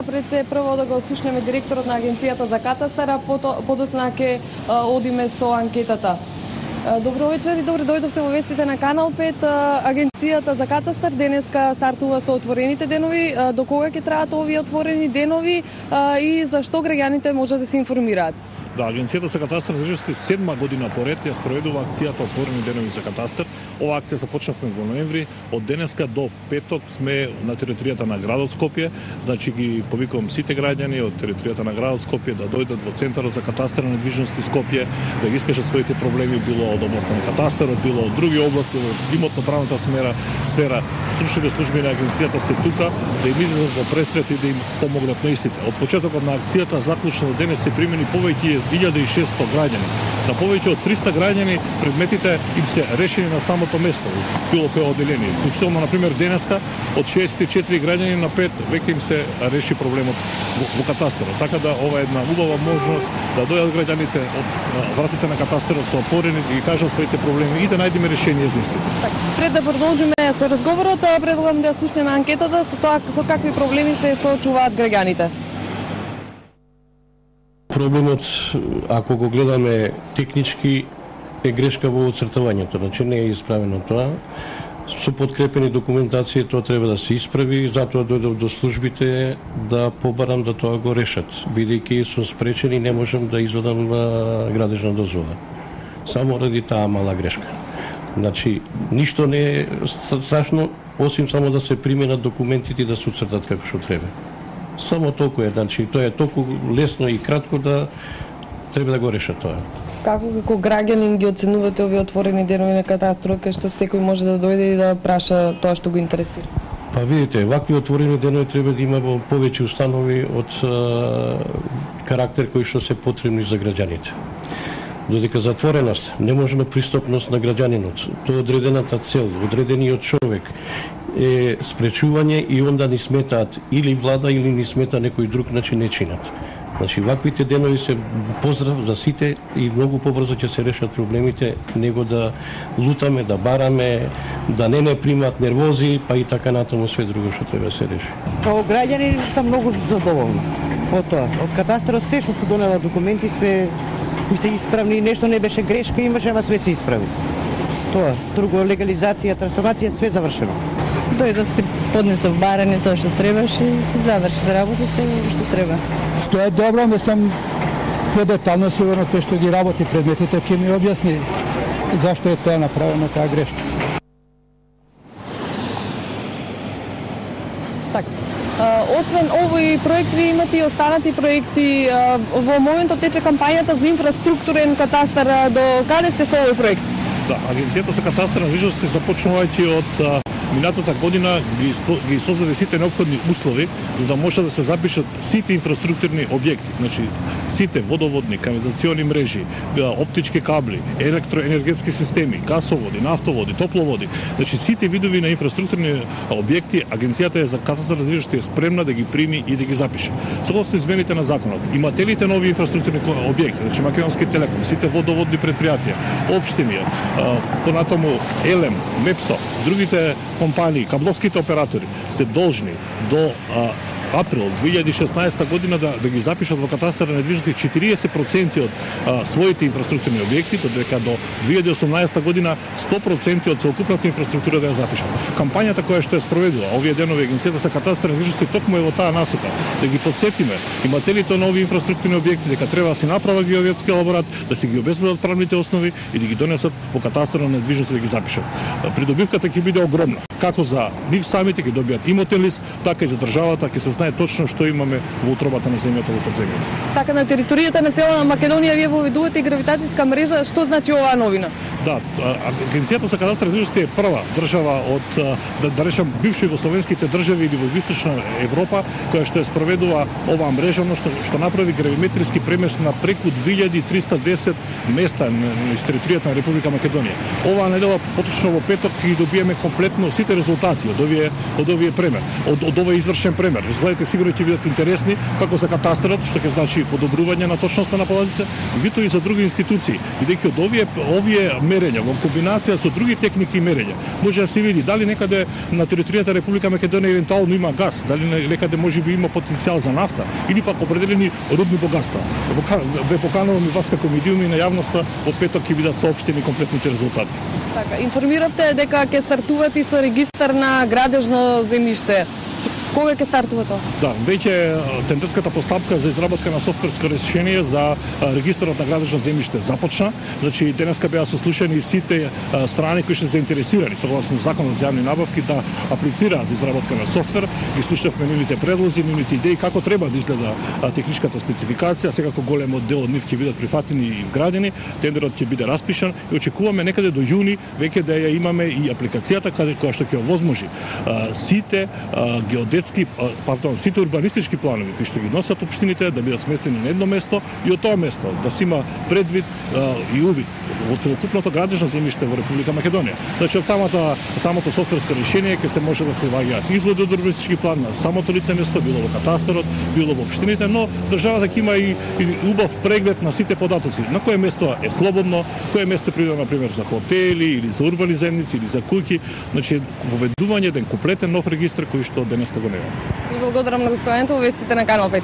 Пред се прво да го слушнеме директорот на Агенцијата за катастар, а подосна ќе одиме со анкетата. Добро вечер и добре дојдовте во вестите на Канал 5. Агенцијата за катастар денеска стартува со отворените денови. До кога ќе траат овие отворени денови и зашто граѓаните може да се информираат? Да, Агенцијата за катастар недвижности 7 година поред ја спроведува акцијата Отворени денови за катастар. Ова акција започнавме во ноември. Од денеска до петок сме на територијата на градот Скопје. Значи ги повикувам сите граѓани од територијата на градот Скопје да дојдат во Центарот за катастар на недвижности Скопје, да ги искажат своите проблеми, било од областа на катастарот, било од други области, од имотно-правната сфера. Стручните служби на агенцијата се тука да им излезат во пресрет и да им помогнат на истите. Од почетокот на акцијата заклучно до денес се примени повеќе 1600 граѓани. На повеќе од 300 граѓани предметите им се решени на самото место, било кое одделение. Вклучително, например, денеска од 64 граѓани на 5 веќе им се реши проблемот во катастарот. Така да ова е една убава можност да дојдат граѓаните од вратите на катастарот се отворени да ги кажат своите проблеми и да најдеме решение за истите. Пред да продолжиме со разговорот, предлагам да слушнеме анкетата со какви проблеми се соочуваат граѓаните. Проблемот, ако го гледаме технички, е грешка во оцртавањето, значи не е исправено тоа. Со подкрепени документација тоа треба да се исправи, затоа дојдов до службите да побарам да тоа го решат. Бидејќи сум спречен и не можам да извадам градежна дозвола. Само ради таа мала грешка. Значи, ништо не е страшно, осим само да се применат документите и да се уцртат како што треба. Само толку е, значи, тоа е толку лесно и кратко да треба да го решат тоа. Како граѓанин ги оценувате овие отворени денови на катастарот, кај што секој може да дојде и да праша тоа што го интересира? Па видите, вакви отворени денови треба да има во повеќе установи од карактер кои што се потребни за граѓаните. Додека затвореност, неможна пристапност на граѓанинот, тоа одредената цел, одредениот човек е спречување и онда ни сметаат или влада или ни смета некој друг начин не чинат. Значи, ваквите денови се поздрав за сите и многу побрзо ќе се решат проблемите, него да лутаме, да бараме, да не примат нервози, па и така натаму све друго што треба да се реши. Како граѓани сум многу задоволна од тоа. Од катастарот се што се донела документи, све ми се исправни, нешто не беше грешка, имаше, ама све се исправи. Тоа, друго, легализација, трансформација, све завршено. Дојдов си поднесов барање тоа што требаше и се заврши работа се што треба. Тоа е добро, не сум подетално сигурно тој што ги работи предметите ќе ми објасни зашто е тоа направено таа грешка. Освен овој проект, ви имате и останати проекти. Во моментот тече кампањата за инфраструктурен катастар. До каде сте со овој проект? Да, Агенцијата за катастар на недвижности започнувајќи од минатата година ги создаде сите неопходни услови за да може да се запишат сите инфраструктурни објекти, значи сите водоводни, канализациони мрежи, оптички кабли, електроенергетски системи, гасоводи, нафтоводи, топловоди, значи сите видови на инфраструктурни објекти Агенцијата за катастар на недвижности е спремна да ги прими и да ги запише. Согласно измените на законот, имателите нови инфраструктурни објекти, значи Македонски телеком, сите водоводни предпријатија, општини, понатаму Елем, Мепсо, другите компании, кабловските оператори се должни до април 2016 година да ги запишат во катастар на недвижности 40% од своите инфраструктурни објекти, додека до 2018 година 100% од целокупната инфраструктура да ја запишат. Кампањата која што е спроведува овие денови Агенцијата за катастар на недвижности токму е во таа насока, да ги потсетиме имателите нови инфраструктурни објекти дека треба да се направи геодетски елаборат, да се ги обезбедат правните основи и да ги донесат во катастар на недвижности да ги запишат. Придобивката ќе биде огромна, како за нив самите ќе добијат имотен лист, така и за државата ќе се знае точно што имаме во утробата на земјата во подземјето. Така на територијата на цела Македонија вие воведувате и гравитацијска мрежа, што значи оваа новина? Да, Агенцијата за катастар на недвижности е прва држава од да речам бивши југословенските држави или во Југоисточна Европа која што ја спроведува оваа мрежа, но што направи гравиметриски премест на преку 2310 места на територијата на Република Македонија. Оваа недела, поточно во петок, ќе добиеме комплетно сите конкретните резултати од овие премер, од овој извршен премер. Резултатите сигурно ќе бидат интересни како за катастарот, што ќе значи подобрување на точноста на податоците, меѓутоа и за други институции, бидејќи од овие мерења во комбинација со други техники и мерења може да се види дали некаде на територијата Република Македонија евентуално има газ, дали некаде можеби има потенцијал за нафта или пак определени рудни богатства. Ве поканувам и вас како медиуми на јавноста, од петок ќе бидат соопштени комплетните резултати. Така, информиравте дека ќе стартувате и со регистар на градежно земјиште. Кога ќе стартува тоа? Да, веќе тендерската постапка за изработка на софтверско решение за регистарот на градежно земјиште започна. Значи денеска беа сослушани сите страни кои се заинтересирани согласно законот за јавни набавки да аплицираат за изработка на софтвер. Ги слушнавме нивните предлози, нивните идеи како треба да изгледа техничката спецификација. Секако голем дел од нив ќе бидат прифатени и вградени. Тендерот ќе биде распишан и очекуваме некаде до јуни веќе да ја имаме и апликацијата која што ќе овозможи сите сите урбанистички планови кои што ги носат општините да бидат сместени на едно место и од тоа место да се има предвид и увид во целокупното градежно земјиште во Република Македонија. Значи од самото софтверско решение ќе се може да се ваѓаат изводи од урбанистички план на самото лице место, било во катастарот, било во општините, но државата ќе има и убав преглед на сите податоци. На кое место е слободно, кое место е придобро например за хотели или за урбани земјици или за куќи, значи воведување еден комплетен нов регистар кој што денеска го нема. Ви благодарам на гостувањето во вестите на Канал 5.